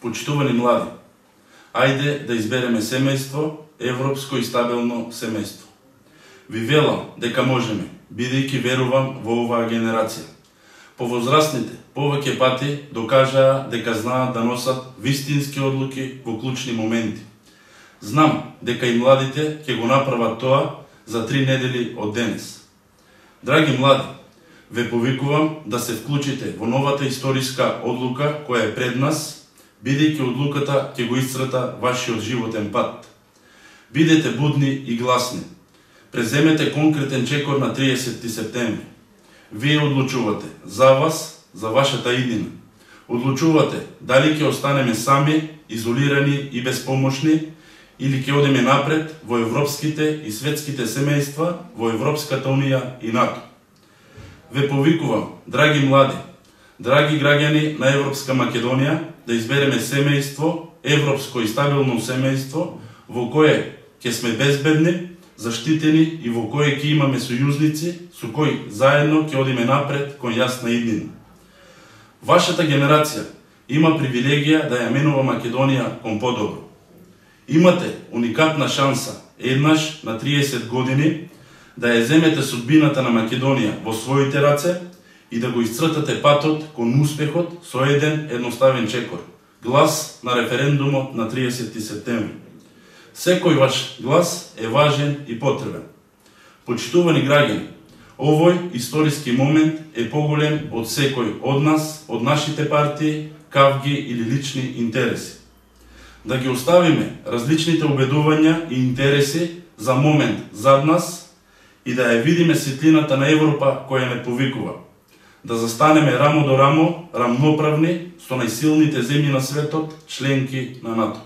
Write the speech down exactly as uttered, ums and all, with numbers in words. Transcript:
Почитувани млади, ајде да избереме семејство, европско и стабилно семејство. Ви велам дека можеме, бидејќи верувам во оваа генерација. Повозрастните повеќе пати докажаа дека знаат да носат вистински одлуки во клучни моменти. Знам дека и младите ќе го направат тоа за три недели од денес. Драги млади, ве повикувам да се вклучите во новата историска одлука која е пред нас, бидејќи одлуката ќе го исцрта вашиот животен пат. Бидете будни и гласни. Преземете конкретен чекор на триесетти септември. Вие одлучувате за вас, за вашата иднина. Одлучувате дали ќе останеме сами, изолирани и безпомошни, или ќе одиме напред во европските и светските семејства, во Европската унија и НАТО. Ве повикувам, драги млади, драги граѓани на Европска Македонија, да избереме семејство, европско и стабилно семејство, во кое ќе сме безбедни, заштитени и во кое ќе имаме сојузници со кои заедно ќе одиме напред кон јасна иднина. Вашата генерација има привилегија да ја менува Македонија кон подобро. Имате уникатна шанса еднаш на триесет години да ја земете судбината на Македонија во своите раце и да го исцртате патот кон успехот со еден едноставен чекор. Глас на референдумот на триесетти септември. Секој ваш глас е важен и потребен. Почитувани граѓани, овој историски момент е поголем од секој од нас, од нашите партии, кавги или лични интереси. Да ги оставиме различните убедувања и интереси за момент зад нас и да ја видиме светлината на Европа која не повикува. Да застанеме рамо до рамо, рамноправни со најсилните земји на светот, членки на НАТО.